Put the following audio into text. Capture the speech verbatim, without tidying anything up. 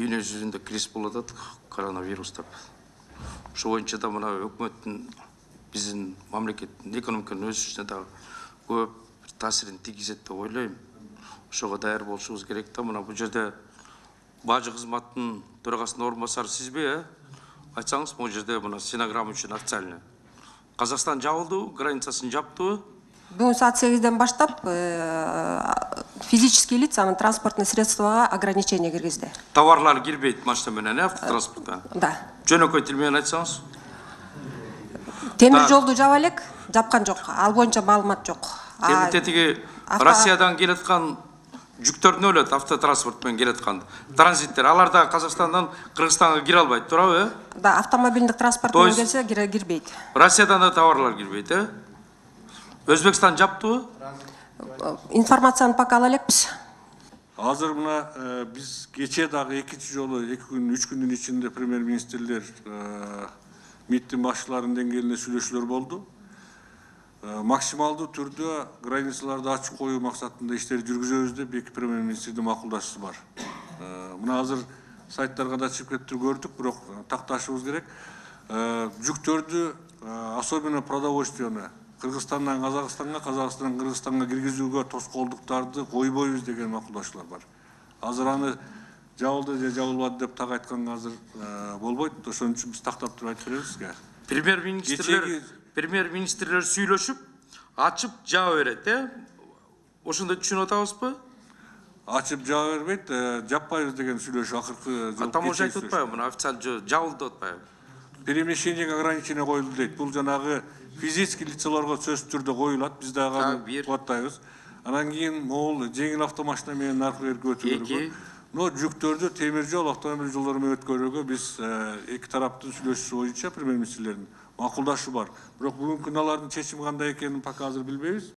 дүйнө жүзүндө кризис болуп атат, коронавирус деп. Ошол боюнча да мына өкмөттүн биздин мамлекеттин экономиканын өсүшүнө да көп таасирин тийгизет деп ойлойм. Ошого даяр болушубуз керек да. Мына бул жерде бажы кызматтын төрагасынын орун басары сизби, э? Айтсаңыз, бул жерде мына стенограмма үчүн официально. Казакстан жабылды, границасын жаптыбы? Бүгүн саат сегизден баштап физические лица транспортный средствага ограничение киргизди. Товарлар кирбейт машина менен, автотранспортко? Да. Жөнөкөй тил менен айтсаңыз? Темир жолду жаба элек, жапкан жок. Ал боюнча маалымат жок. Тетиги Россиядан келаткан жүктөрдүн өлөт, автотранспорт менен келаткан транзиттер. Алар да Казакстандан Кыргызстанга кире албайт, туурабы? Да, автомобилдик транспорт менен келсе кирбейт. Россиядан да товарлар кирбейт, э? Өзбекстан жаптыбы? Информацияны пока ала элекпиз. Азыр мына биз кечээ дагы экинчи жолу эки күн, үч күндүн ичинде премьер-министрлер МИДтин башчыларынын деңгээлинде сүйлөшүүлөр болду. Максималдуу түрдө границаларды ачык коюу максатында иштерди жүргүзөбүз деп эки премьер-министрдин макулдашуусу бар. Мына азыр сайттарга да чыгып кетип көрдүк, бирок такташыбыз керек. Жүктөрдү, особенно продовольствияны Кыргызстандан Казакстанга, Казакстандан Кыргызстанга киргизүүгө тоскоолдуктарды койбойбуз деген макулдашуулар бар. Азыр аны жабылды же жабылбады деп так айтканга азыр болбойт. Ошон үчүн биз тактап туруп айтып беребиз. Премьер-министрлер премьер-министрлер сүйлөшүп, ачып жаба берет, э? Ошондо түшүнүп атабызбы? Ачып жаба бербейт, жаппайбыз деген сүйлөшүү акыркы жолу. Там уже айтып атпайбы, мына официально жабылды деп атпайбы? Перемещениеге ограничение коюлду дейт. Бул жанагы физический лицаларга сөзсүз түрдө коюлат, биз дагы кубаттайбыз. Анан кийин могул жеңил автомашина менен наркы берип өтүлөргө. Но жүктөрдү темир жол, автомобиль жолдору менен өткөрүүгө биз эки тараптын сүйлөшүүсү боюнча премьер-министрлердин макулдашуу бар. Бирок бүгүнкү күнү алардын чечими кандай экенин пока азыр билбейбиз.